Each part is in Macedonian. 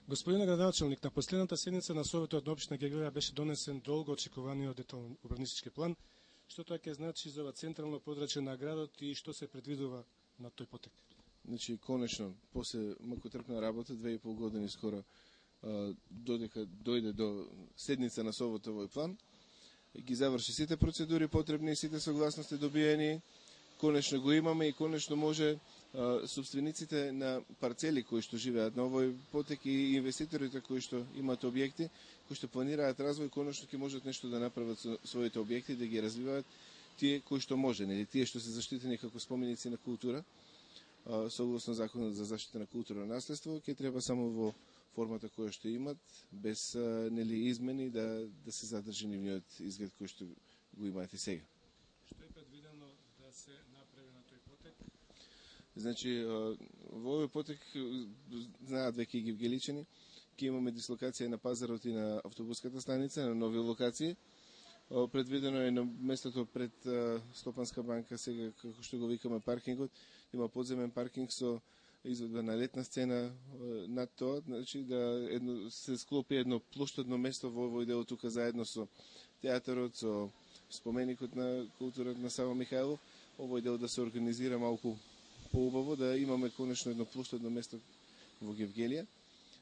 Господин градоначалник, на последната седница на Советот на општина Гевгелија беше донесен долго очекуваниот детален урбанистички план. Што тоа ќе значи за ова централно подрачје на градот и што се предвидува на тој потек? Значи, конечно, после мъкотрпна работа, 2,5 години скоро, додека дојде до седница на Советот овој план, ги заврши сите процедури потребни и сите согласности добиени, конечно го имаме и конечно може собствениците на парцели кои што живеат на овој потек и инвеститорите кои што имаат објекти, кои што планираат развој, конечно ќе можат нешто да направат со своите објекти, да ги развиваат тие кои што може, нели, тие што се заштитени како споменици на култура, согласно законот за заштита на културно наследство, ќе треба само во формата која што имат, без нели измени да се задржи нивниот изглед кој што го имаат и сега. Што е предвидено да се направи на тој потек? Значи, во овој потек, знаат веќе и гевгеличани, ќе имаме дислокација на пазарот и на автобуската станица, на нови локации. Предвидено е на местото пред Стопанска банка, сега како што го викаме паркингот, има подземен паркинг со изведба на летна сцена над тоа, значи да се склопи едно плоштадно место во овој дел тука заедно со театарот, со споменикот на културата на Сава Михајлов, овој дел да се организира малку поубаво, да имаме конечно едно плоштадно место во Гевгелија,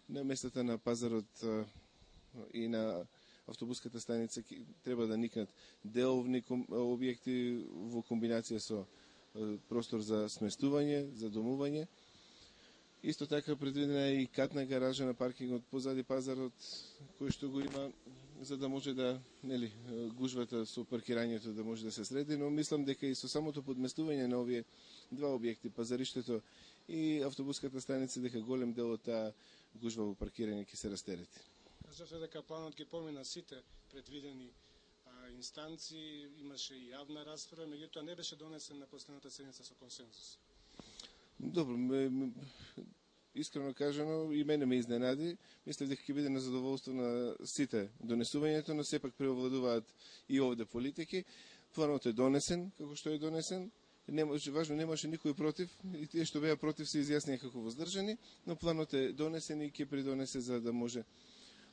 на местата на пазарот и на автобуската станица треба да никнат деловни објекти во комбинација со простор за сместување, за домување. Исто така предвидена е и катна гаража на паркингот позади пазарот, кој што го има за да може да, нели, гужвата со паркирањето да може да се среди, но мислам дека и со самото подместување на овие два објекти, пазариштето и автобуската станица, дека голем дел од таа гужва во паркирање ќе се растерети. Кажавте дека планот ги помина сите предвидени инстанции, имаше и јавна расправа, меѓутоа не беше донесен на последната седница со консензус. Добро, искрено кажано, и мене ме изненади. Мислев дека ќе биде на задоволство на сите донесувањето, но сепак преовладуваат и овде политики. Планот е донесен, како што е донесен. Важно, немаше никој против, и тие што беа против се изјаснија како воздржани, но планот е донесен и ќе придонесе за да може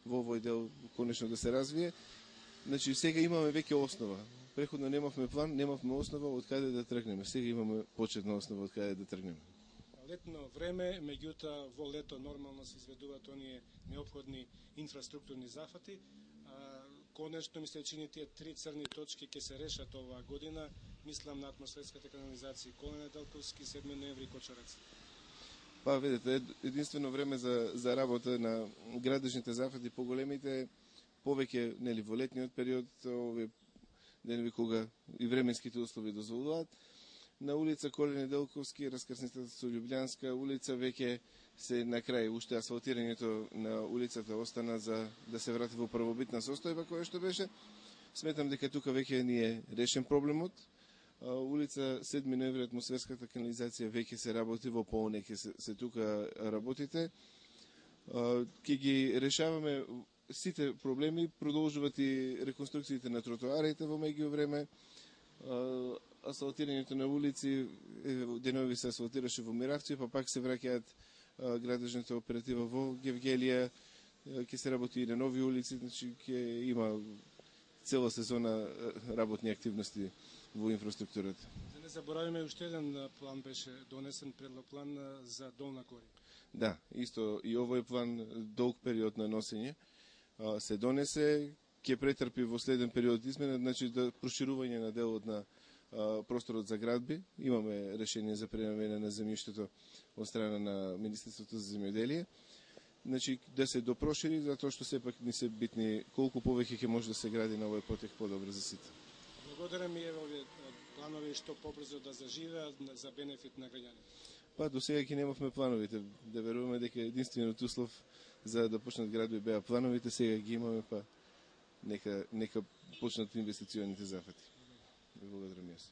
во овој дел конечно да се развие. Значи, сега имаме веќе основа. Преходно немавме план, немавме основа од каде да тргнеме. Сега имаме почетна основа од каде да тргнеме. Летно време, меѓутоа во лето нормално се изведуваат оние неопходни инфраструктурни зафати. Конечно ми се чини тие 3 црни точки ќе се решат оваа година. Мислам на атмосферската канализација Колене Далковски, 7 ноември и Кочорец. Па, видите, единствено време за работа на градежните зафати поголемите, повеќе, нели, во летниот период, овие денови кога и временските услови дозволуваат. На улица Колене Делковски, раскрсницата со Љубљанска улица, веќе се на крај, уште асфалтирањето на улицата остана за да се врати во првобитна состојба која што беше. Сметам дека тука веќе ни е решен проблемот. Улица 7 ноември, атмосферската канализација веќе се работи, во полне ќе се тука работите. Ќе ги решаваме сите проблеми, продолжуваат и реконструкциите на тротоарите во меѓу време, асфалтирањето на улици, денови се асфалтираше во Миравци, па пак се враќаат градежната оператива во Гевгелија, ќе се работи и на нови улици, значи ќе има цела сезона работни активности во инфраструктурата. Да не заборавиме, уште еден план беше донесен, предлог план за Долна Кори. Да, исто и овој план, долг период на носење, се донесе, ќе претрпи во следен период измена, значи да проширување на делот на просторот за градби. Имаме решение за пренамена на земјиштето од страна на Министерството за земјоделие. Значи да се допрошири, затоа што сепак ни се битни колку повеќе ќе може да се гради на овој потек подобро за сите. Благодарам и овие планови што побрзо да заживеат за бенефит на граѓаните. Па до сега ќе немавме плановите. Да веруваме дека единствениот услов за да почнат градови беа плановите, сега ги имаме, па нека почнат инвестиционите зафати. Благодарам јас.